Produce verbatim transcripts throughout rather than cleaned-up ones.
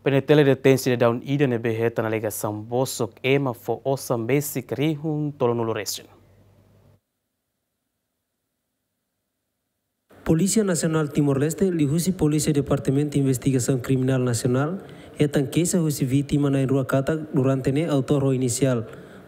PNTL detein sidadaun ida ne'ebé hetan alegasaun bosok ema fó osan besik rihun tolunulu resin. Polísia Nasionál Timor-Leste, liuhusi Polísia Departamentu Investigasaun Kriminál Nasionál, hetan keixa husi vítima na'in-rua katak durante ne'e autór ho inisiál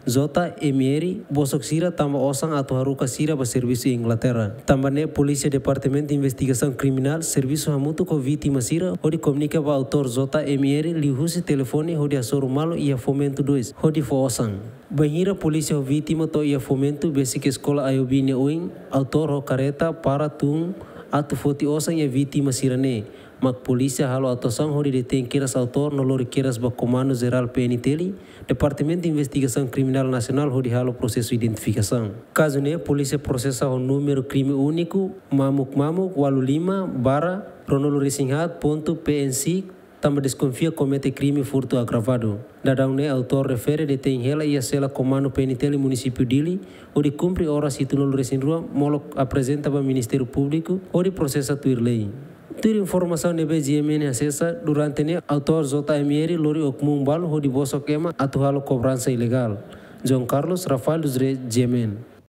J M R bosok sira tama osan atu haruka sira ba servisu iha Inglaterra. Tanba ne'e Polísia Departamentu Investigasaun Kriminál servisu hamutuk ho vítima sira hodi komunika ba autór J M R liuhusi telefone hodi hasoru malu iha Fomento dois hodi fó osan. Bainhira polísia ho vítima to'o iha Fomento, besik eskola Ayobi nia oin, autór ho kareta para tun atu foti osan iha vítima sira-ne'e. Mak polísia halo atuasaun hodi detein kedas autór no lori kedas ba Komandu Jerál PNTL, Departamentu Investigasaun Kriminál Nasionál hodi halo prosesu identifikasaun. Kazu ne'e polísia prosesa ho númeru krime úniku mamuk mamuk ualu lima barra ruanulu resin haat pontu P N C, tanba deskonfia komete krime furtu agravadu. Daudaun ne'e autór refere detein hela iha sela Komandu PNTL Munisípiu Dili, hodi kumpre oras hitunulu resin rua molok aprezenta ba Ministériu Públiku hodi prosesa tuir lei. Tuir informasaun ne'ebé GMN asesa, durante ne'e autór J M R lori okmun balu hodi bosok ema atu halo kobransa ilegál. João Carlos, Rafael dos Reis, GMN.